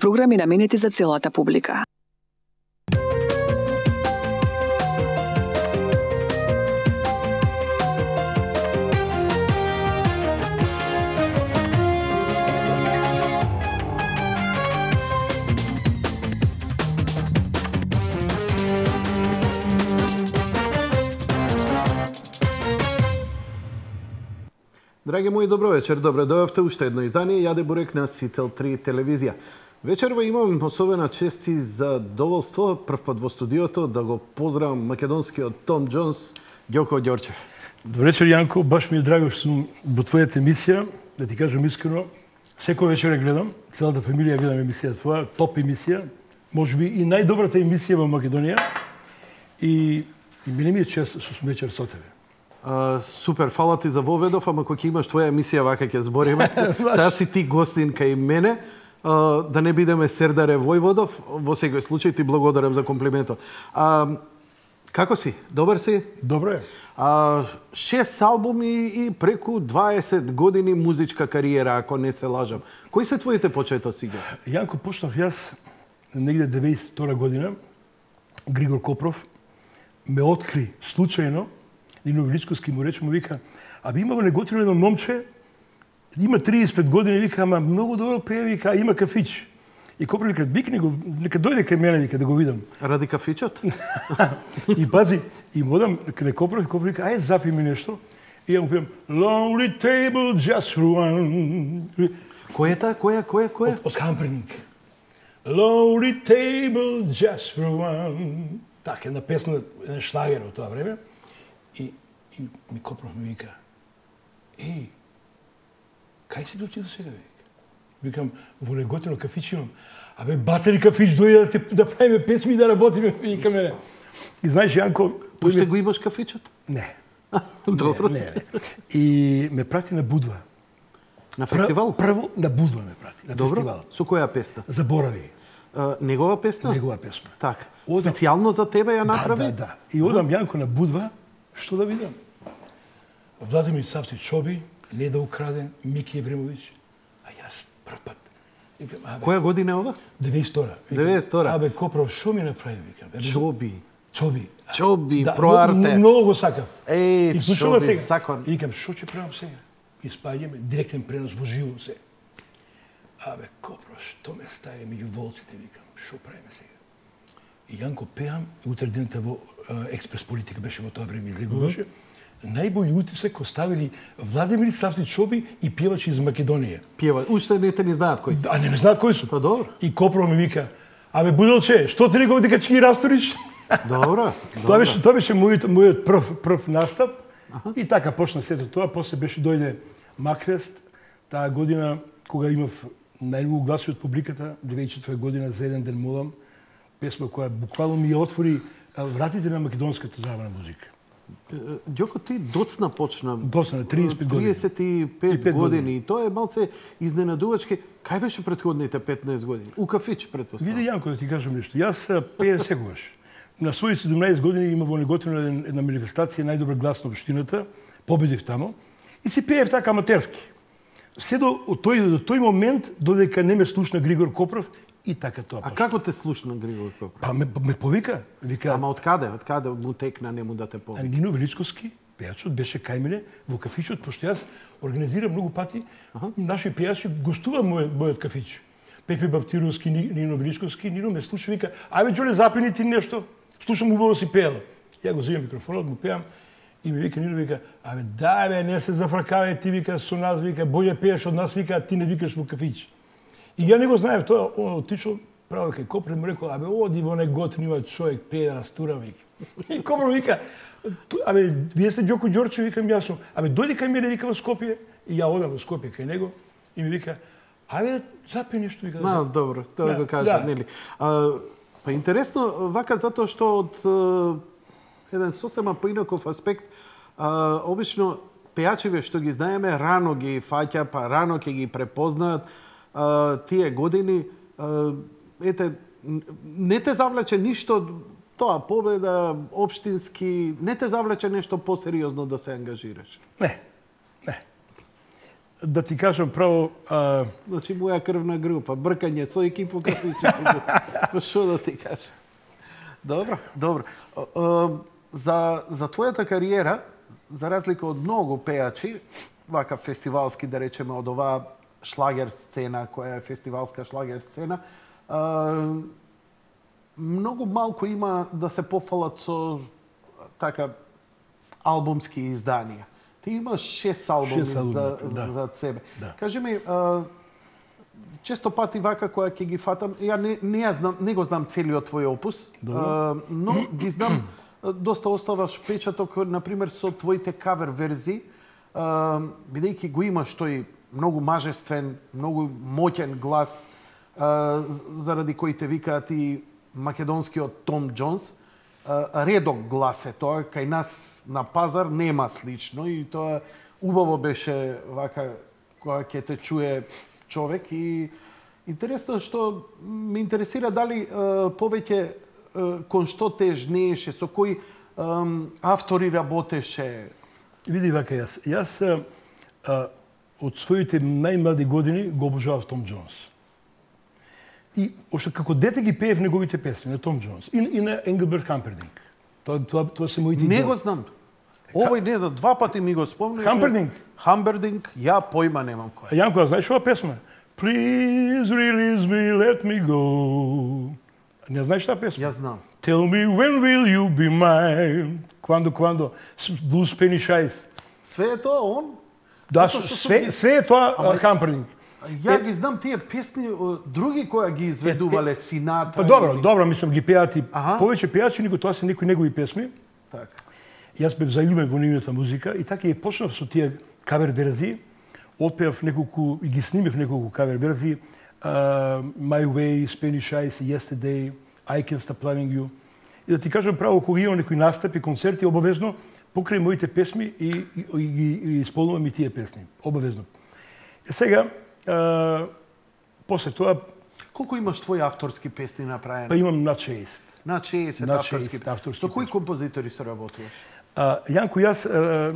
Програми наменети за целата публика. Драги мои, добро вечер. Добре дојавте уште едно издание Јаде Бурек на Сител 3 телевизија. Вечерва имам особена чест и задоволство прв пат во студиото да го поздравам македонскиот Том Џонс, Ѓоко Ѓорчев. Добро вечер, Јанко. Баш ми е драго што сум во твојата емисија. Да ти кажам искрено, секој вечер ја гледам, целата фамилија гледам емисија твоја, топ емисија, можеби и најдобрата емисија во Македонија. И мене ми е чест што сум вечер со тебе. Супер, фала ти за воведов, ама кога имаш твоја емисија вака ќе збориме. Сега си ти гостин кај мене, да не бидеме Сердаре Војводов. Во секој случај ти благодарам за комплиментот. Како си? Добар си? Добро е. 6 албуми и преку 20 години музичка кариера, ако не се лажам. Кои се твоите почетоци? Јанко, почнав јас негде 92 година. Григор Копров ме откри случајно. Нино Величковски му рече, му вика, има неготино едно момче, има 35 години, вика, ама многу добро пее, вика, има кафич. И Копров вика, викни го, нека дојде кај мене, вика, да го видам. Ради кафичот? И пази, и му одам кај Копров, и Копров вика, ајде запи ми нешто. И ја му пијам, Lonely Table Just for One. Кој е та? Кој? Од Хамперник. Lonely Table Just for One. Така, една песна, еден шлагер од тоа време. И ми Копров ми вика, кај си дочи до сега, вика? Викам, во неготино кафич имам. Батери кафич дојде да правиме песми и да работиме, вика мене. И знаеш, Јанко... Уште го имаш кафичот? Не. Добро. Не. И ме прати на Будва. На фестивал? Прво на Будва ме прати, на добро. фестивал. Со која песна? Заборави. Негова песна? Негова песна. Така. Специјално за тебе ја направи? Да. И одам, Јанко, на Будва, што да видам? Владимир Савти Чоби, Неда Украден, Мики Евремович, а јас прв пат. Која година е ова? 92-ра. 92-ра. Копров, шо ми направи, викам? Чоби, проарте. Многу го сакав. Чоби, закон. И викам, шо ќе правам сега? И спаѓаме, директен пренос во живо се. Копров, што ме стави меѓу волците, викам, шо правиме сега? И Јанко пеам, утре дента во Експрес Политика беше во тоа време излегуваше. Најбољи утисок оставили Владимир Савти Чоби и певачи из Македонија. Уште не те не знаат кои се. Не знаат кои су. Па добро. И Копров ми вика, Буделче, што ти реков дека ќе ги расториш? Добро. Тоа беше мојот прв настап. И така почна сето тоа, после дојде Макфест, таа година кога имав најмногу гласи од публиката, 2004 година за еден ден молам, песма која буквално ми ја отвори вратите на македонската забавна музика. Ѓоко, ти доцна почна. Доцна, 35 години. 35 години. И тоа е малце изненадувачки. Кај беше претходните 15 години? У кафич, претпоставам. Види, Јанко, да ти кажам нешто. Јас пеев секогаш. На своји 17 години има во неготино една манифестација најдобар глас на општината. Победив тамо. И си пеев така аматерски. Се до тој момент, додека не ме слушна Григор Копров, и така тоа. А како те слушна Григор Копров? Ме повика. Вика, ама откаде му текна нему да те повика? Нино Величковски, пејачот, беше кај мене во кафичот, пошто јас организирам многу пати, наши пејачи гостува мојот кафич. Пепе Бавтировски, Нино Величковски, Нино ме слуша, вика, Џоле, запини ти нешто, слушам убаво си пеела. Ја го земам микрофонот, му пеам, и ми вика, Нино вика, не се зафракавај, ти вика со нас, вика, боље пееш од нас, вика, а ти не викаш во кафич. И ја не го знаев тоа, он отишол право кај Копров, му рекол, оди во неготин има човек, пее да растура, вика. И Копров вика, вие сте Ѓоко Ѓорчев, викам јас сум. Дојди кај мене, вика, во Скопје. И ја одам во Скопје кај него и ми вика, запи нешто, вика. Добро, тоа го кажа, нели. Па интересно, вака затоа што од еден сосема поинаков аспект, обично пејачиве што ги знаеме, рано ги фаќа, па рано ќе ги препознаат тие години, не те завлече ништо, тоа победа, општински, не те завлече нешто посериозно да се ангажираш? Не. да ти кажам право... Значи, моја крвна група, бркање со екипа кафиче. Што да ти кажам? Добро. За твојата кариера, за разлика од многу пејачи, вака фестивалски, да речеме, од оваа шлагер сцена, која е фестивалска шлагер сцена, многу малку има да се пофалат со така албумски изданија. Ти имаш 6 албуми за себе. Да. Кажи ми, често пати вака која ќе ги фатам, ја не го знам целиот твој опус, но ги знам, доста оставаш печаток, например, со твоите кавер верзии, бидејќи го имаш тој многу мажествен, многу моќен глас, заради кој те викаат и македонскиот Том Џонс. Редок глас е тоа, кај нас на пазар нема слично и тоа убаво беше вака кога ќе те чуе човек и интересно што ме интересира дали повеќе кон што те жнееше, со кои автори работеше. Види вака јас од своите најмлади години го обожавав Том Џонс. И ошто како дете ги пеев неговите песни на Том Џонс и на Енгелберт Хампердинг. Тоа се моите Не го знам. Овој не знам, 2 пати ми го спомнеш. Хампердинг, ја појма немам кој. Јанко, знаеш ова песма? Please release me, let me go. Не знаеш таа песма? Ја знам. Tell me when will you be mine? Quando? Blue Spanish Eyes. Све е тоа он? Да, све е тоа Хампердинг. Ја ги знам тие песни други кои ги изведувале Сината. Па добро, мислам ги пеат и повеќе пеачи, него тоа се некои негови песми. Така. Јас бев заљубен во нивната музика и така и почнав со тие кавер верзии. Отпеав неколку и ги снимев неколку кавер верзии. My Way, Spanish Eyes, Yesterday, I Can't Stop Loving You. И да ти кажам право, кога имам некои настапи, концерти, обавезно покрај моите песми и исполнувам и тие песни. Обавезно. И сега, после тоа... Колку имаш твои авторски песни направени? Па имам над 6. Над 60 авторски. Со кои композитори се работуваш? Јанко, јас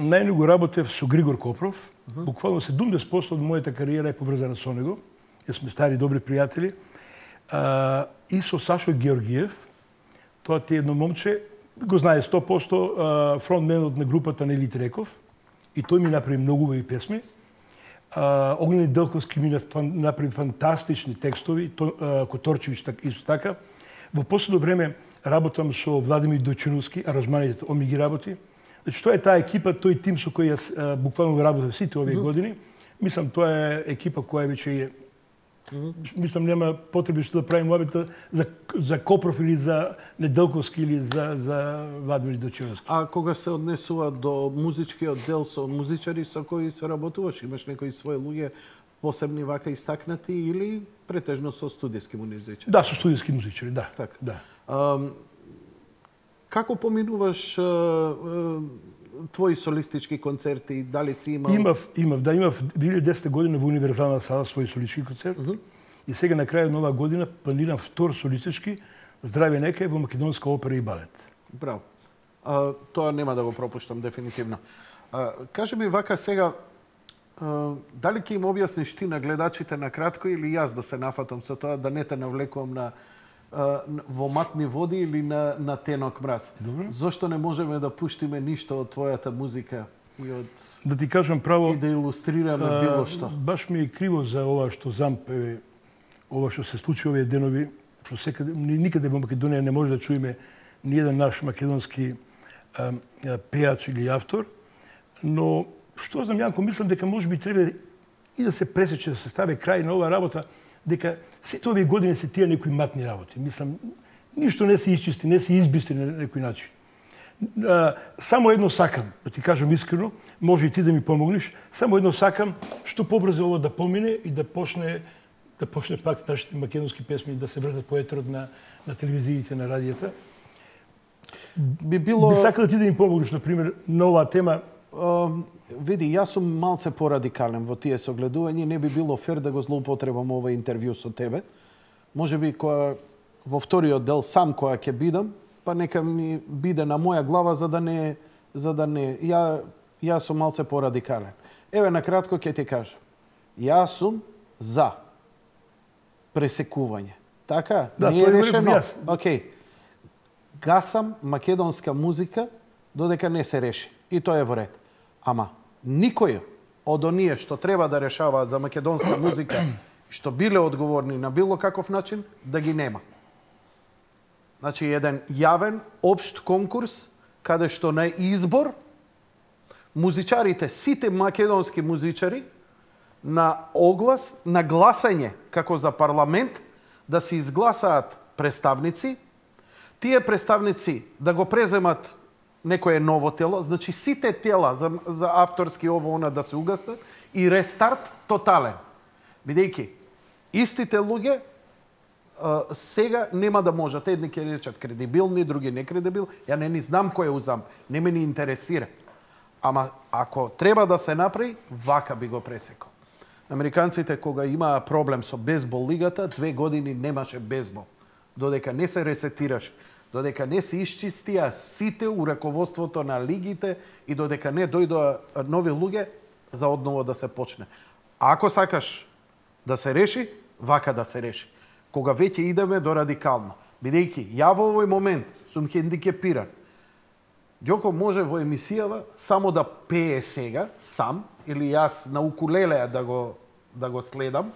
најмногу работев со Григор Копров. Буквално 70% од мојата кариера е поврзана со него. Јас сме стари добри пријатели. И со Сашо Георгиев. Тоа ти едно момче, го знае 100%, фронтменот на групата на Елит Реков. И тој ми направи многу убави песми. Огнени Делковски ми направи фантастични текстови, Которчевич исто така. Во последно време работам со Владимир Дочиновски, аранжманите он ми ги работи. Значи, тоа е таа екипа, тој тим со кој јас буквално работам сите овие години. Мислам, тоа е екипа која веќе е... Мислам, нема потреби што да правим лабета за Копров или за Неделковски или за Владимир Дочиновски. А кога се однесува до музичкиот дел со музичари со кои се работуваш, имаш некои свои луѓе посебни вака истакнати или претежно со студиски музичари? Да, со студиски музичари, да. Така. Да. Како поминуваш твои солистички концерти, дали си имал? Имав 2010 година во Универзална сала свој солистички концерт. И сега на крајот на оваа година планирам втор солистички Здраве нека во Македонска опера и балет. Браво. Тоа нема да го пропуштам дефинитивно. Кажи ми вака сега, дали ќе им објасниш ти на гледачите на кратко или јас да се нафатам со тоа, да не те навлекувам во матни води или на тенок мраз? Добро. Зошто не можеме да пуштиме ништо од твојата музика и од... Да ти кажам право... И да илустрираме било што. Баш ми е криво за ова што зампе, ова што се случи овие денови, што секаде, никаде во Македонија не може да чуеме ни еден наш македонски пеач или автор, но што знам, Јанко, мислам дека можеби треба и да се пресече, да се стави крај на оваа работа, дека сите овие години се тие некои матни работи. Мислам, ништо не се исчисти, не се избистри на некој начин. Само едно сакам, да ти кажам искрено, може и ти да ми помогнеш, само едно сакам, што побрзо ова да помине и да почне пак нашите македонски песми да се вртат по етерот на телевизиите, на радијата. Би сакал да ти да им помогнеш, например, на оваа тема. Види, јас сум малце порадикален во тие согледувања, не би било фер да го злоупотребам ова интервју со тебе. Можеби во вториот дел сам која ќе бидам, па нека ми биде на моја глава за да не јас сум малце порадикален. Еве на кратко ќе ти кажам. Јас сум за пресекување. Така, да, не е решено. Јас. Океј. Гасам македонска музика додека не се реши. И тоа е во ред. Ама никој од оние што треба да решаваат за македонска музика, што биле одговорни на било каков начин, да ги нема. Значи, еден јавен, општ конкурс, каде што на избор музичарите, сите македонски музичари, на оглас, на гласање, како за парламент, да се изгласаат представници, тие представници да го преземат некое ново тело, значи сите тела за авторски ово да се угаснат и рестарт тотален. Бидејќи истите луѓе сега нема да можат. Едни ќе речат кредибилни, други некредибилни. Ја не ни знам кој е узам. Не ме ни интересира. Ама ако треба да се направи, вака би го пресекал. Американците кога имаа проблем со бейсбол лигата, 2 години немаше бейсбол. Додека не се ресетираше, додека не се исчистија сите у раководството на лигите и додека не дојдоа нови луѓе за одново да се почне. Ако сакаш да се реши, вака да се реши. Кога веќе идеме до радикално. Бидејќи ја во овој момент сум хендикепиран. Ѓоко може во емисијава само да пее сега, сам, или јас на укулеле да го следам,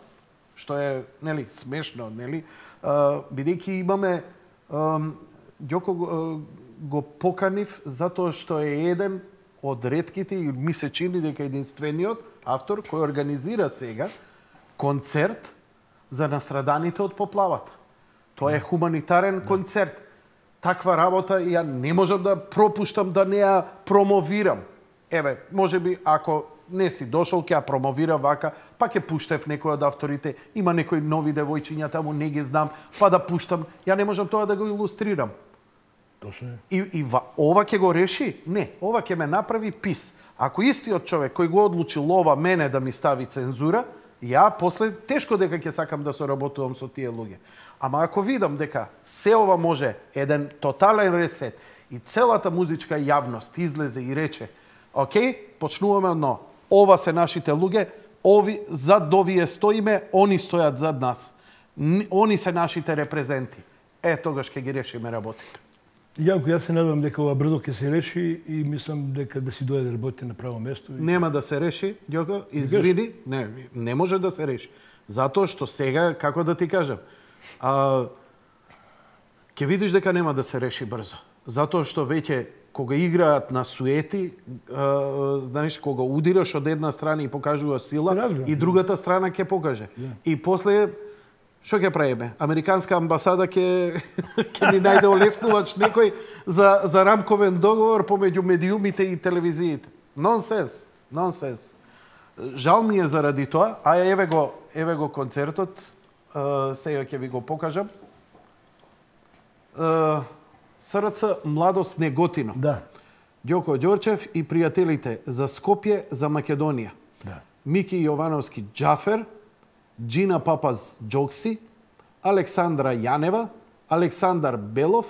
што е, нели, смешно, нели? Бидејќи имаме Ѓоко го поканив затоа што е еден од ретките и ми се чини дека единствениот автор кој организира сега концерт за настраданите од поплавата. Тоа е хуманитарен концерт. Таква работа ја не можам да пропуштам да не ја промовирам. Еве, можеби ако не си дошол, ќе ја промовира вака, па ќе пуштев некој од авторите, има некои нови девојчиња таму, не ги знам, па да пуштам. Ја не можам тоа да го илустрирам. Точно. И ова ќе го реши? Не, ова ќе ме направи пис. Ако истиот човек кој го одлучил ова мене да ми стави цензура, ја после тешко дека ќе сакам да соработувам со тие луѓе. Ама ако видам дека се ова може еден тотален ресет и целата музичка јавност излезе и рече, окей, почнуваме одно. Ова се нашите луѓе, ови зад овие стоиме, они стојат зад нас. Они се нашите репрезенти. Тогаш ќе ги решиме работите. Јанко, јас се надевам дека ова брзо ќе се реши и мислам дека да си дојде да работите на право место. Нема да се реши, Ѓоко, извини, не може да се реши. Затоа што сега, како да ти кажам, ќе видиш дека нема да се реши брзо. Затоа што веќе кога играат на суети, знаеш, кога удираш од една страна и покажува сила, и другата страна ќе покаже. И после што ќе правиме? Американска амбасада ќе ни најде олеснувач некој за рамковен договор помеѓу медиумите и телевизиите. Нонсенс, нонсенс. Жал ми е заради тоа, а еве го концертот, сега ќе ви го покажам. СРЦ Младост Неготино. Да. Ѓоко Ѓорчев и пријателите за Скопје, за Македонија. Да. Мики Јовановски Џафер, Джина Папаз Џокси, Александра Јанева, Александар Белов,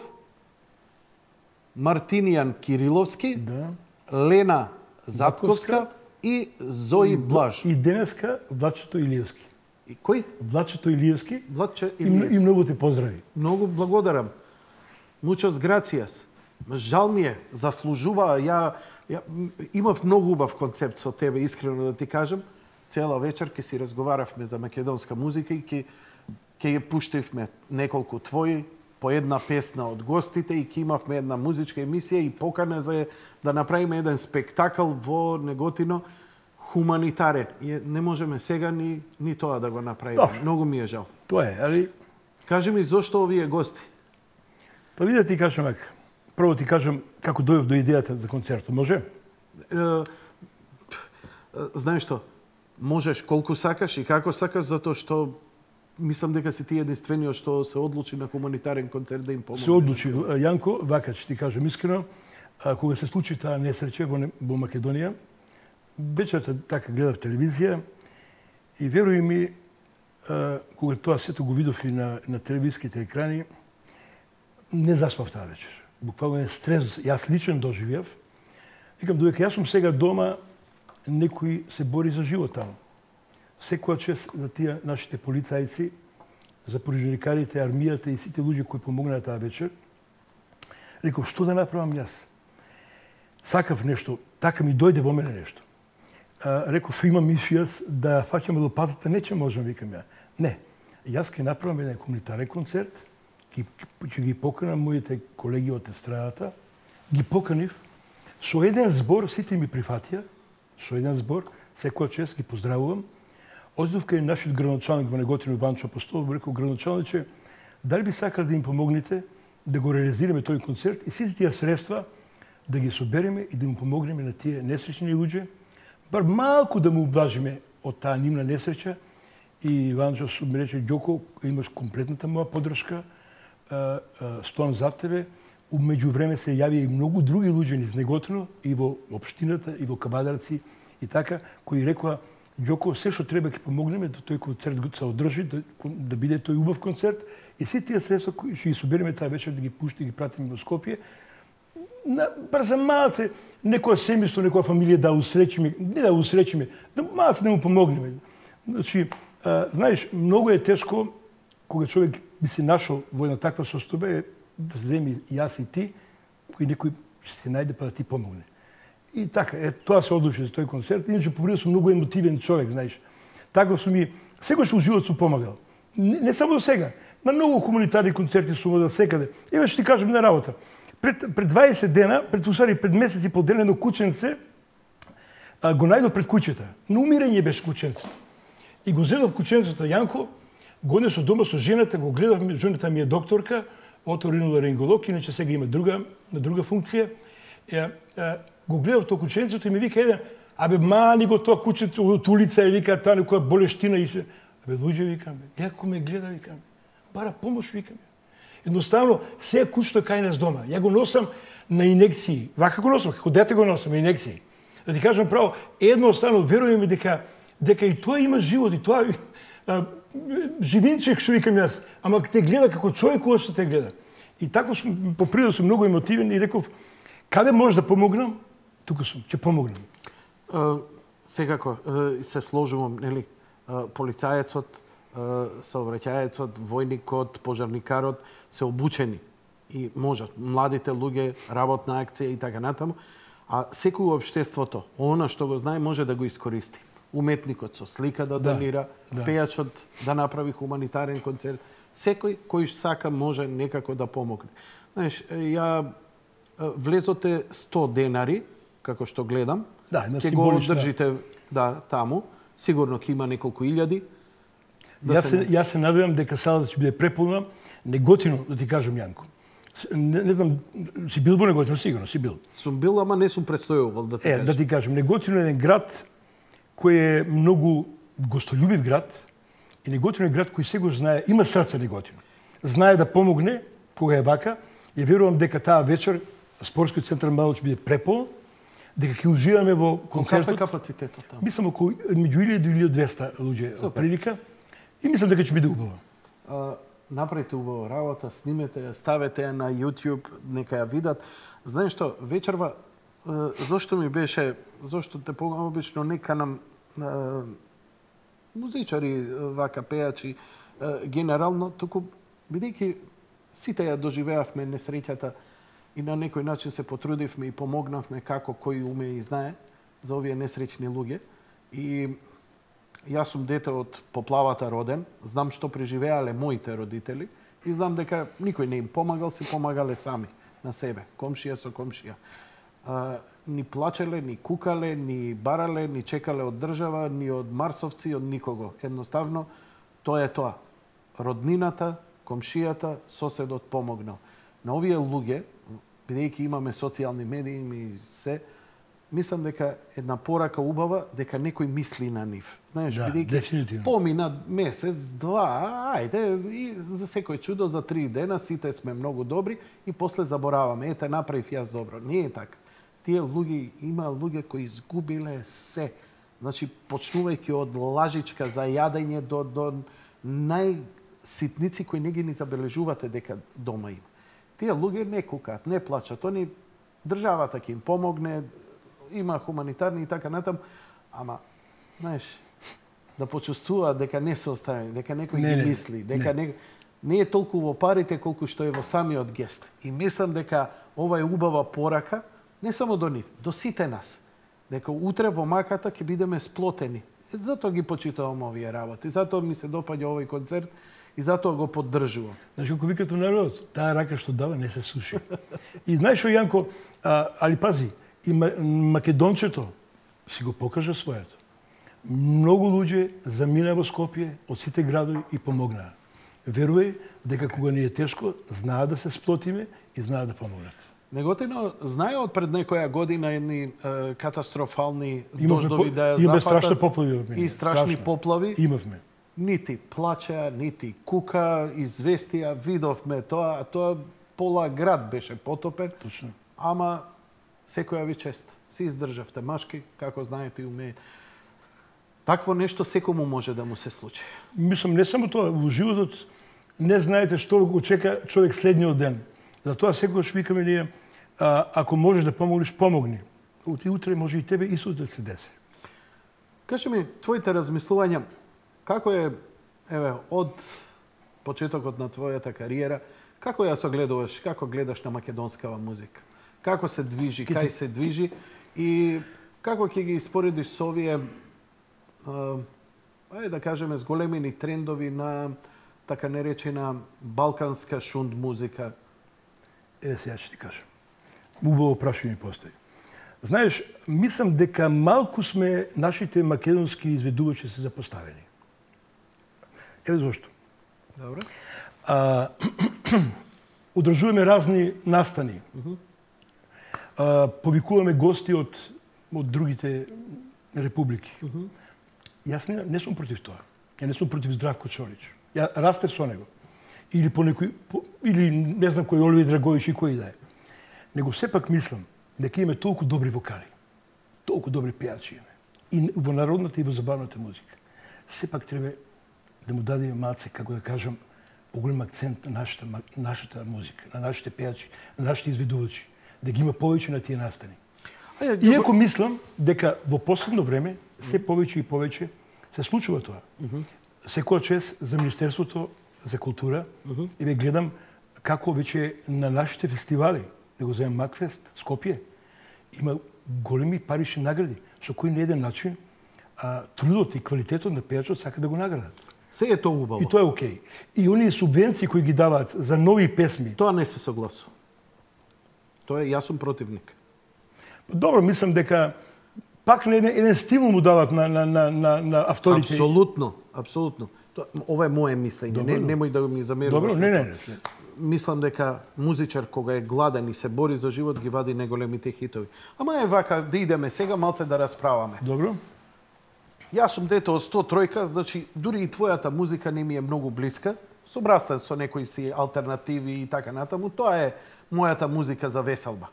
Мартинијан Кириловски, Да. Лена Затковска и Зои Блаж. И денеска Влачето Илиевски. И кој? Влачето Илиевски. Влаче И многу те поздрави. Многу благодарам. Muchas gracias. Жал ми е, заслужува. Ја имав многу убав концепт со тебе, искрено да ти кажам. Цела вечер ќе си разговаравме за македонска музика и ќе ја пуштивме неколку твои, по една песна од гостите и ќе имавме една музичка емисија и покана за да направиме еден спектакл во Неготино хуманитарен. И не можеме сега ни тоа да го направиме. Многу ми е жал. Тоа е, али... Кажи ми зошто овие гости? Па види да ти кажам вака. Прво ти кажам како дојдов до идејата за концертот, може? Знаеш што? Можеш колку сакаш и како сакаш, затоа што мислам дека си ти единствениот што се одлучи на хуманитарен концерт да им помогне. Се одлучи. Јанко, вака ќе ти кажам искрено, кога се случи таа несреќа во Македонија, вечерта така гледав телевизија и веруј ми, кога тоа сето го видов и на телевизиските екрани, не заспав таа вечер. Буквално е стрес, јас лично доживеав. Викам, додека јас сум сега дома, некој се бори за живот таму. секоја чест за тие нашите полицајци, за пожарникарите, армијата и сите луѓе кои помогнаа таа вечер. Реков, што да направам јас? Сакав нешто, така ми дојде во мене нешто. Реков, имам мисија да фаќам лопатата, не ќе можам, викам ја. Не, јас ќе направам еден комунитарен концерт, ќе ги поканам моите колеги од естрадата, ги поканив, со еден збор, сите ми прифатија, со еден збор, секоја чест ги поздравувам. Одидов кај нашиот градоначалник во Неготино Ванчо Апостолов, рекол, градоначалниче, дали би сакал да им помогнете да го реализираме тој концерт и сите тие средства да ги собереме и да му помогнеме на тие несреќни луѓе, бар малку да му облажиме од таа нивна несреќа. И Ванчо ми рече, Ѓоко, имаш комплетната моја поддршка, стоам за тебе. Меѓу време се јави и многу други луѓе низ Неготино и во општината, и во Кавадарци, и така, кои рекоа, Ѓоко, се што треба ќе помогнеме да тој концерт се одржи, да биде тој убав концерт и сите тие средства кои ќе ги собереме таа вечер да ги пушти, ги пратиме во Скопје. Бар за малце, некоја семејство, некоја фамилија да усречиме, не да усречиме, да малце да му помогнеме. Значи, знаеш, многу е тешко кога човек би се нашол во една таква состојба да се земи јас и ти, кој некој ќе се најде па да ти помогне. И така, тоа се одлучи за тој концерт. Иначе по сум многу емотивен човек, знаеш. Така сум и секогаш во живот сум помагал. Не само до сега. На многу хуманитарни концерти сум одел секаде. Еве што ти кажам на работа. Пред 20 дена, пред месец и пол дена, едно кученце го најдов пред куќата. На умирање беше кученцето. И го зедов кученцето Јанко, го однесов дома со жената, го гледавме, жената ми е докторка, оториноларинголог, иначе сега има друга функција. Го гледав тоа кученцето и ми вика еден, абе мани го тоа кученце од улица и вика таа некоја болештина и се. Абе луѓе викаме, леко ме гледа викаме. Бара помош викаме. Едноставно се кучето кај нас дома. Ја го носам на инекции. Вака го носам, како дете го носам на инекции. Да ти кажам право, едноставно веруваме дека и тоа има живот и тоа живинчек што викам јас, ама те гледа како човек кој што те гледа. И така сум по природа сум многу емотивен и реков каде може да помогнам? Тука сум, ќе помогнам. Секако се сложувам, нели, полицајецот, сообраќајецот, војникот, пожарникарот се обучени и можат младите луѓе, работна акција и така натаму, а секој општеството, она што го знае може да го искористи. Уметникот со слика да донира, пејачот да направи хуманитарен концерт, секој кој сака може некако да помогне. Знаеш, ја влезоте 100 денари, како што гледам, ќе го одржите таму, сигурно ќе има неколку илјади. Јас се надевам дека салата ќе биде преполна. Неготино, да ти кажам, Јанко. Не знам, си бил во Неготино, сигурно си бил. Сум бил, ама не сум престојувал, да ти кажам. Да ти кажам, Неготино е еден град кој е многу гостолюбив град и Неготино е град кој се го знае, има срце Неготино. Знае да помогне кога е вака и верувам дека таа вечер спортскиот центар мало ќе биде преполн, дека ќе уживаме во концертот. Каков е капацитетот таму? Мислам околу меѓу 1000 и 1200 луѓе прилика и мислам дека ќе биде убаво. Направите убава работа, снимете ја, ставете ја на YouTube, нека ја видат. Знаеш што, вечерва зошто ми беше, зошто те погам обично нека нам музичари, вака пејачи, генерално, туку бидејќи сите ја доживеавме несреќата и на некој начин се потрудивме и помогнавме како кој уме и знае за овие несреќни луѓе. И јас сум дете од поплавата роден, знам што преживеале моите родители и знам дека никој не им помагал, се помагале сами на себе, комшија со комшија. Ни плачеле, ни кукале, ни барале, ни чекале од држава, ни од марсовци, од никого. Едноставно, тоа е тоа. Роднината, комшијата, соседот помогнал. На овие луѓе, бидејќи имаме социјални медии и се, мислам дека една порака убава дека некој мисли на нив. Знаеш, бидејќи помина месец, два, ајде, и за секој чудо за 3 дена сите сме многу добри и после забораваме. Ете, направив јас добро. Не е така. Тие луѓе, има луѓе кои изгубиле се. Значи, почнувајќи од лажичка за јадење до најситници кои не ги ни забележувате дека дома има. Тие луѓе не кукаат, не плачат. Они државата ќе им помогне, има хуманитарни и така натам, ама, знаеш, да почувствуваат дека не се оставени, дека некој ги мисли, дека не е толку во парите колку што е во самиот гест. И мислам дека ова е убава порака не само до нив, до сите нас. Дека утре во маката ќе бидеме сплотени. Затоа ги почитувам овие работи. Затоа ми се допаѓа овој концерт и затоа го поддржувам. Значи, како викат у народот, таа рака што дава не се суши. И знаеш што, Јанко, али пази, и македончето си го покажа своето. Многу луѓе замина во Скопје од сите градови и помогнаа. Верувај дека кога ни е тешко, знаат да се сплотиме и знаат да помогнат. Неготино, знае од пред некоја година едни катастрофални дождови да ја запатат. Имаме страшни поплави. И страшни поплави. Имавме. Нити плача, нити кука, известија, видовме тоа, а тоа пола град беше потопен. Точно. Ама секоја ви чест. Си издржавте машки, како знаете и умеете. Такво нешто секому може да му се случи. Мислам, не само тоа, во животот не знаете што го чека човек следниот ден. Затоа секогаш викаме ние, ако можеш да помогнеш, помогни. И утре може и тебе исто да се деси. Кажи ми, твоите размислувања, како е, еве, од почетокот на твојата кариера, како ја согледуваш, како гледаш на македонскава музика? Како се движи, кај се движи и како ќе ги испоредиш со овие, да кажеме, зголемени трендови на така наречена балканска шунд музика? Еве сега ќе ти кажам. Убаво прашање постои. Знаеш, мислам дека малку сме нашите македонски изведувачи се запоставени. Еве зошто. Добре. Одржуваме разни настани. Повикуваме гости од другите републики. Јас не сум против тоа. Ја не сум против Здравко Чорич. Ја растев со него. Или по некој, или не знам кој Оливи Драгович и кој да е. Него сепак мислам дека имаме толку добри вокали, толку добри пејачи имаме. И во народната и во забавната музика. Сепак треба да му дадеме малце, како да кажам, поголем акцент на нашата музика, на нашите пејачи, на нашите изведувачи, да ги има повеќе на тие настани. Иако мислам дека во последно време се повеќе и повеќе се случува тоа. Секоја чест за Министерството за култура и ве гледам како веќе на нашите фестивали, да го земем Макфест, Скопје, има големи парични награди, со кој на еден начин трудот и квалитетот на пејачот сака да го наградат. Се е тоа убаво. И тоа е окей. И оние субвенции кои ги даваат за нови песми. Тоа не се согласувам. Тоа е, јас сум противник. Добро, мислам дека пак на еден стимул му дават на авторите. Апсолутно, апсолутно. Ова е моje мислење, немој да ми замеруваш. Добро, не. Мислам дека музичар кога е гладен и се бори за живот ги вади најголемите хитови. Ама е вака да идеме сега малце да расправаме. Добро. Јас сум дете од 103, значи дури и твојата музика не ми е многу блиска. Собраста со некои си алтернативи и така натаму. Тоа е мојата музика за веселба.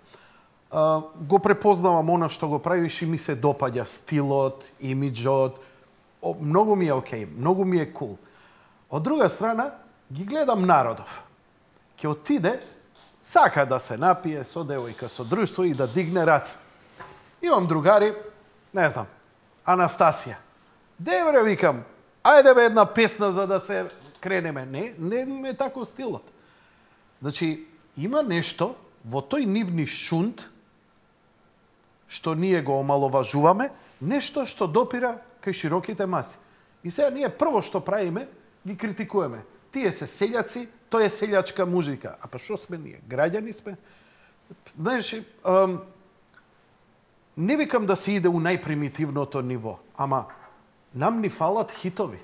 Го препознавам она што го правиш и ми се допаѓа стилот, имиџот. Многу ми е окей, многу ми е кул. Од друга страна, ги гледам народов. Ќе отиде, сака да се напие со девојка, со друштво и да дигне раце. Имам другари, не знам, Анастасија. Девре, викам, ајде бе една песна за да се кренеме. Не ме тако стилот. Значи, има нешто во тој нивни шунд, што ние го омаловажуваме, нешто што допира кај широките маси. И сега ние прво што правиме, ги критикуваме. Тие се селјаци, тоа е селјачка музика. А па што сме ние? Граѓани сме? Знаеш, не викам да се иде у најпримитивното ниво, ама нам ни фалат хитови.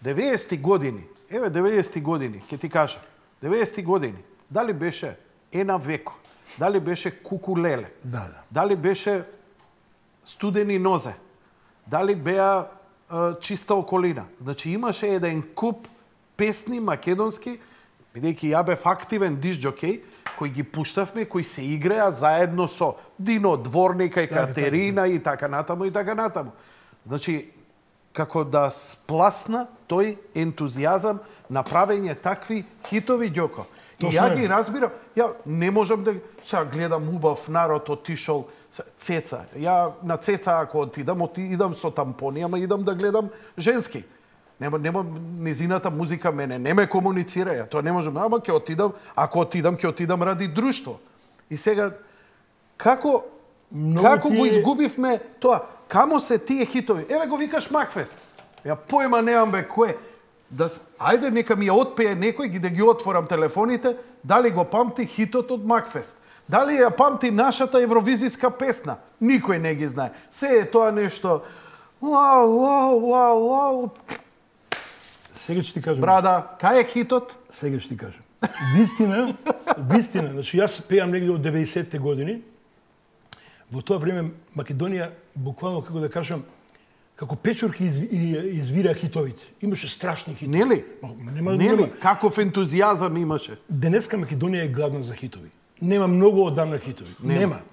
90-ти години, еве 90-ти години, ќе ти кажам, 90-ти години, дали беше Ена Веко, дали беше Кукулеле, дали беше Студени нозе, дали беа Чиста околина. Значи имаше еден куп песни македонски, бидејќи ја бев активен дисџокеј, кои ги пуштавме, кои се игреа заедно со Дино Дворника и Катерина и така натаму и така натаму. Значи, како да спласна тој ентузијазам на правење такви хитови, Ѓоко. И ја ги разбирам. Ја не можам да сега гледам убав народ отишол Цеца. Ја на Цеца ако отидам со тампони, ама идам да гледам женски. Нема низината музика мене не ме комуницира, ја тоа не можам, ама ќе отидам, ако отидам ќе отидам ради друштво. И сега како го изгубивме тоа? Камо се тие хитови? Еве го викаш Макфест. Ја појма немам бе кој. Ајде нека ми ја отпее некој да ги отворам телефоните, дали го памти хитот од Макфест. Дали ја памти нашата евровизиска песна? Никој не ги знае. Се е тоа нешто вау. Сега ќе ти кажам. Брада, кај е хитот? Сега ќе ти кажам. Вистина, значи јас пеам негде од 90-те години. Во тоа време Македонија буквално како да кажам како печурки извира хитовите. Имаше страшни хитови. Нели? Нема. Каков ентузијазам имаше. Денеска Македонија е гладна за хитови. Нема многу одамна хитови.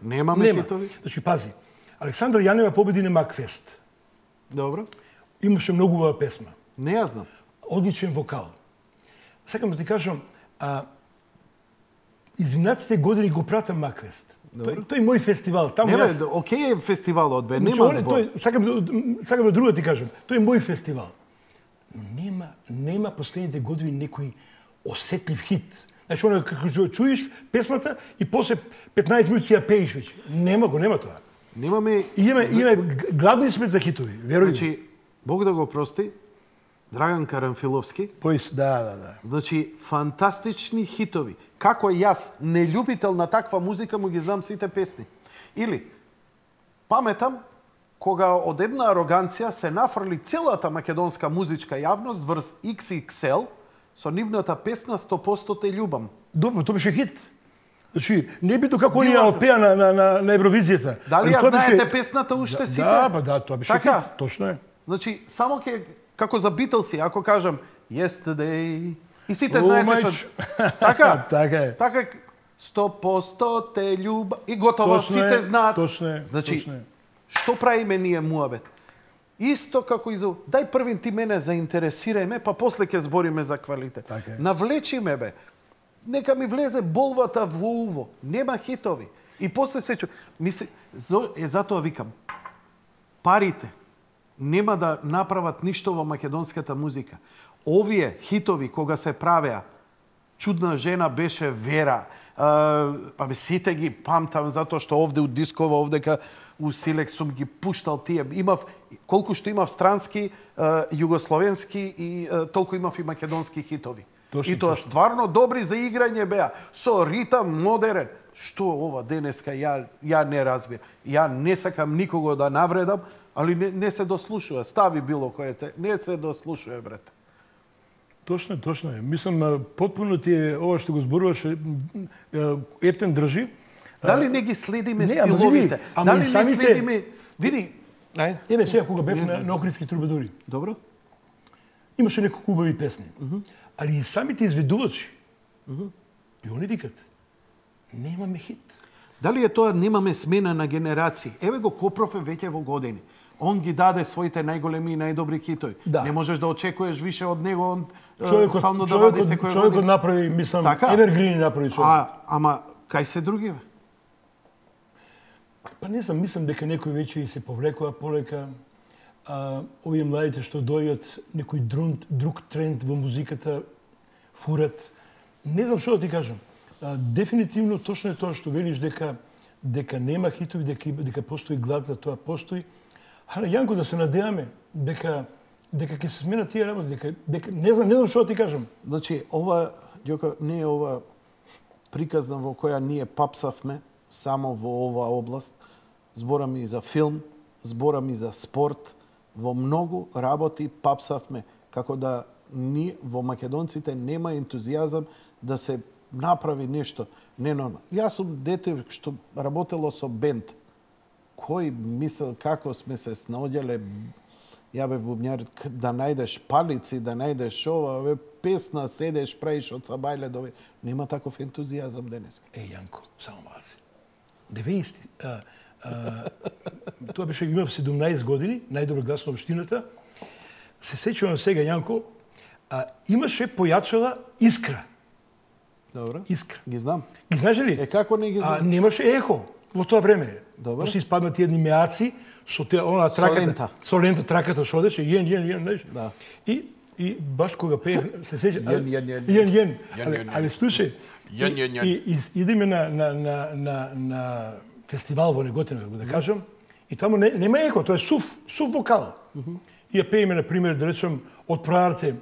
Немаме хитови. Значи пази. Александра Јанева победи на Макфест. Добро. Имаше многу убава песма. Не ја знам. Одличен вокал. Сакам да ти кажам, изминатите години го пратам Макфест. Тој мој фестивал. Океј е фестивалот, бе, нема збор. Сакам да друго ти кажам. Тој е мој фестивал. Но нема последните години некој осетлив хит. Значи, оно како чуеш песмата и после 15 минути ја пееш веќе. Нема тоа. Немаме... Имаме гладни сме за хитови, веруј. Значи, Бог да го прости, Драган Карамфиловски. Да. Значи, фантастични хитови. Како јас, нељубител на таква музика, му ги знам сите песни. Или, паметам, кога од една ароганција се нафрли целата македонска музичка јавност врз XXL со нивната песна 100% те љубам. Добро, тоа беше хит. Значи, не бито како они ја отпеа на Евровизијата. Дали ја знаете песната уште сите? Да, тоа беше хит, точно е. Значи, само како за Битлси, ако кажам Yesterday, и сите знаете што... Така? Така е. Така, 100% те љубам. И готово, сите знаат. Точно е. Значи, што правиме ние муабет? Исто како и за... Дај првин ти мене заинтересирај ме, па после ќе збориме за квалитет. Така е. Навлечи ме, бе. Нека ми влезе болвата во уво. Нема хитови. И после се чу... Затоа викам. Парите нема да направат ништо во македонската музика. Овие хитови, кога се правеа, Чудна жена беше Вера, сите ги памтам, затоа што овде у дискова, овдека у Силекс сум ги пуштал тие. Колку што имав странски, југословенски и толку имав и македонски хитови. И тоа стварно добри за играње беа. Со ритам модерен. Што ова денеска ја не разбирам. Ја не сакам никого да навредам, али не се дослушува. Стави било које не се дослушува, брат. Точно е. Мислам, потпуно ти е ова што го зборуваше, Ептен држи. Дали не ги следиме стиловите? Дали не следиме... Види, еве сега кога бев на Охридски трубадури. Добро. Имаше неколку убави песни. Али и самите изведувачи. И они викат, немаме хит. Дали е тоа немаме смена на генерации? Еве го Копров веќе во години. Он ги даде своите најголеми и најдобри хитови. Да. Не можеш да очекуваш више од него, он стално да вади секој година. Човекот направи, мислам, Евергрини направи човек. Ама кај се другиве? Па не знам, мислам дека некој веќе и се повлекува полека. Овие младите што дојдат, некој друг тренд во музиката фурат. Не знам што да ти кажам. Дефинитивно точно е тоа што велиш дека нема хитови, дека постои глад за тоа, постои. Јанко, да се надеваме дека ќе се сменат тие работи, дека не знам што да ти кажам. Значи, ова, Ѓоко, не е ова приказна во која ние папсавме само во оваа област. Зборам и за филм, зборам и за спорт. Во многу работи папсавме, како да ние во македонците нема ентузијазам да се направи нешто ненормално. Јас сум дете што работело со бенд. Кој мисел како сме се снаоѓале, ја бев бубњар, да најдеш палици, да најдеш ова, песна, седеш, правиш од сабајле до... Нема таков ентузијазам денес. Јанко, само малци. 90... Тоа беше, имав 17 години, најдобар глас на општината. Се сеќавам сега, Јанко, имаше појачала искра. Добро. Искра. Ги знам. Ги знаеш ли? Како не ги знам? Немаше ехо во тоа време. Добро. Се испаднат едни меаци со она траката. Со лента траката што одеше, јен, знаеш. Да. И баш кога пеев, се сеќа. Јен. Али слушај. И идеме на фестивал во Неготино, како да кажам, и таму нема еко, тоа е сув вокал. И ја пееме, на пример, да речем, од проарте,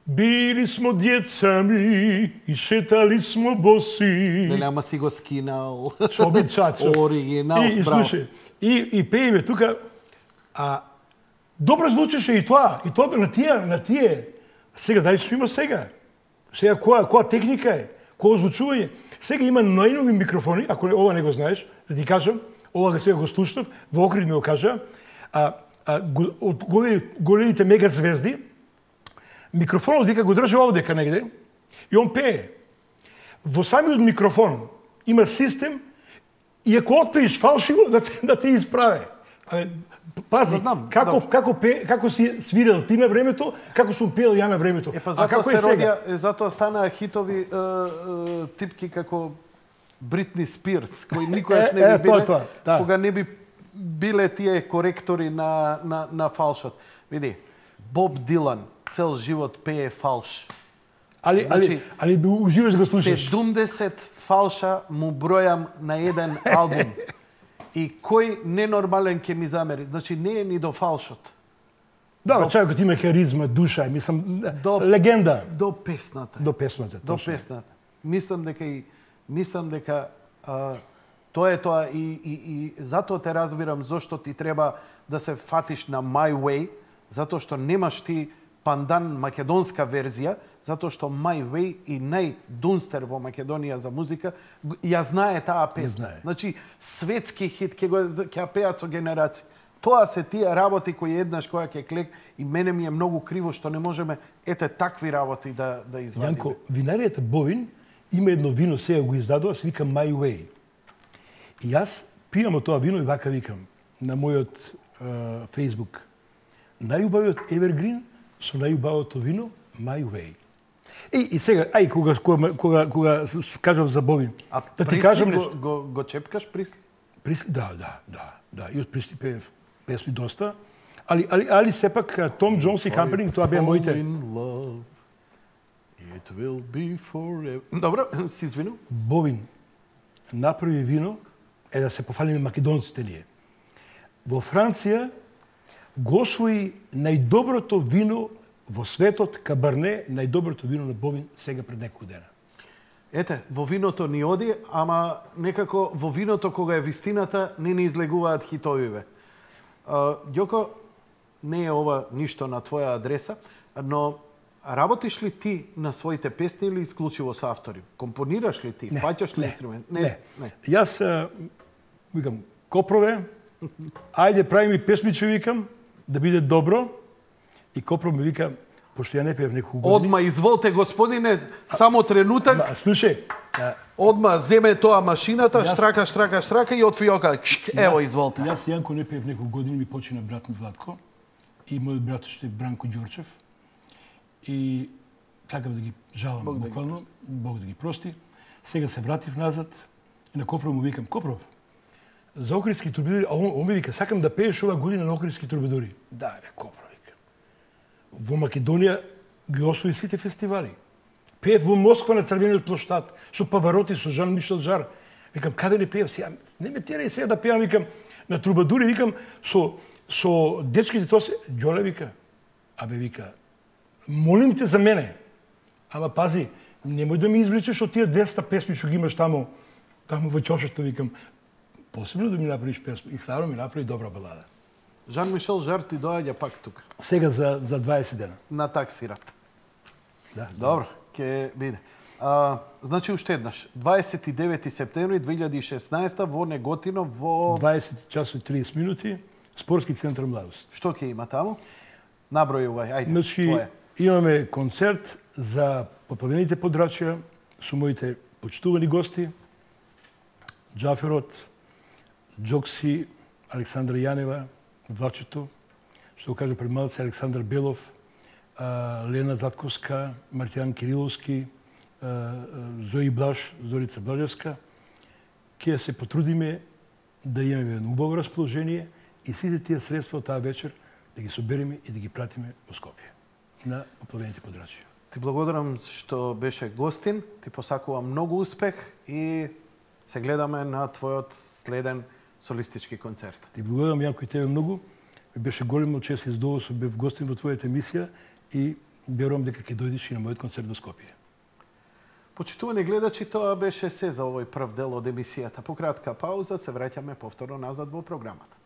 били смо децами и шетали смо боси. Нема си го скинал. Со обичачо. Оригинал, и браво. Слушай, и пееме тука, добро звучеше и тоа на тие. Сега дали што има сега? Сега која техника е? Кој озвучување? Сега има најнови микрофони, ако ова не го знаеш, да ти кажам, ова сега го слушнав, во Охрид ми го кажа, од големите мега звезди, микрофонот вика го држи овдека негде и он пее. Во самиот микрофон има систем и ако отпееш фалшиво да те исправе. Пази, како си свирел ти на времето, како сум пеел ја на времето. А како е сега? Затоа станаа хитови типки како Бритни Спирс, кои никогаш не би биле, кога не би биле тие коректори на фалшот. Види, Боб Дилан цел живот пее фалш. Али да уживаш го слушаш. 70 фалша му бројам на еден албум. И кој ненормален ќе ми замери? Значи, не е ни до фалшот. Да, човекот има харизма, душа, мислам, легенда. До песната. До песната. Мислам дека тоа е тоа и затоа те разбирам зошто ти треба да се фатиш на My Way, затоа што немаш ти пандан македонска верзија, затоа што My Way и најдунстер во Македонија за музика ја знае таа песна. Значи, светски хит ќе пеат со генерации. Тоа се тие работи кои еднаш која ќе клек и мене ми е многу криво што не можеме такви работи да извадиме. Јанко, винаријата Бовин има едно вино, сега го издадува, се вика My Way. И јас пијам од тоа вино и вака викам на мојот Facebook. Најубавиот Evergreen со најубавото вино My Way. И сега, кога кажав за Бовин, да ти кажам нешто. Го чепкаш Присли? Присли, да. И од Присли пеев песни доста. Али сепак Том Джонс и Компани, тоа беа моите. It will be forever. Добро, си извинувам. Бовин направи вино, да се пофалиме македонците ние. Во Франција го освои најдоброто вино во светот, Кабарне, најдоброто вино на Бовин сега пред неколку дена. Ете, во виното ни оди, ама некако во виното кога е вистината не излегуваат хитовиве. Ѓоко, не е ова ништо на твоја адреса, но работиш ли ти на своите песни или исклучиво со автори? Компонираш ли ти? Фаќаш ли инструмент? Не. Јас викам Копрове, ајде прави ми песниче, викам, да биде добро. И Копров ми вика, пошто ја не пеев неколку години. Одма изволте, господине, само тренутак. Слушај, одма земе тоа машината, штрака и отви ока. Ево, изволте. Јас Јанко не пеев неколку години, ми почина брат ми Владко и мојот брат што е Бранко Ѓорчев. И такав да ги жалам буквално, Бог да ги прости. Сега се вратив назад и на Копров му викам, Копров, за Охридски турбидори, а он ми вика, сакам да пееш ова година на Охридски турбидори. Да, Копров, вика. Во Македонија ги освои сите фестивали. Пеев во Москва на Црвениот плоштад, со Павароти, со Жан Мишел Жар. Викам, каде не пеев сега? Не ме терај сега да пеам, викам, на турбадури, викам, со дечките тоа се... Ѓоле, вика, абе, вика, молим те за мене. Ама пази, немој да ми извлечеш од тие 200 песми што ги имаш таму во чошето, викам, посебно да ми направиш песма. И стварно ми направи добра балада. Жан Мишел Жар ти доаѓа пак тука. Сега за 20 дена. На таксират. Да. Добро, ќе биде. Значи уште еднаш, 29 септември 2016 во Неготино во 20 часот и 30 минути, Спортски центар Младост. Што ќе има таму? Набројувај, ајде. Значи, твое. Имаме концерт за поплавените подрачја со моите почитувани гости, Џаферот, Џокси, Александра Јанева, Влачето, што го кажа пред малце, Александар Белов, Лена Затковска, Мартијан Кириловски, Зои Блаж, Зорица Блажевска, ќе се потрудиме да имаме едно убаво расположение и сите тие средства од таа вечер да ги собереме и да ги пратиме во Скопје на поплавените подрачја. Ти благодарам што беше гостин, ти посакувам многу успех и се гледаме на твојот следен солистички концерт. Ти благодарам Јанко и тебе многу. Беше големо чест и задоволство бев гостин во твојата емисија и верувам дека ќе дојдеш и на мојот концерт во Скопје. Почитувани гледачи, тоа беше се за овој прв дел од емисијата. По кратка пауза се враќаме повторно назад во програмата.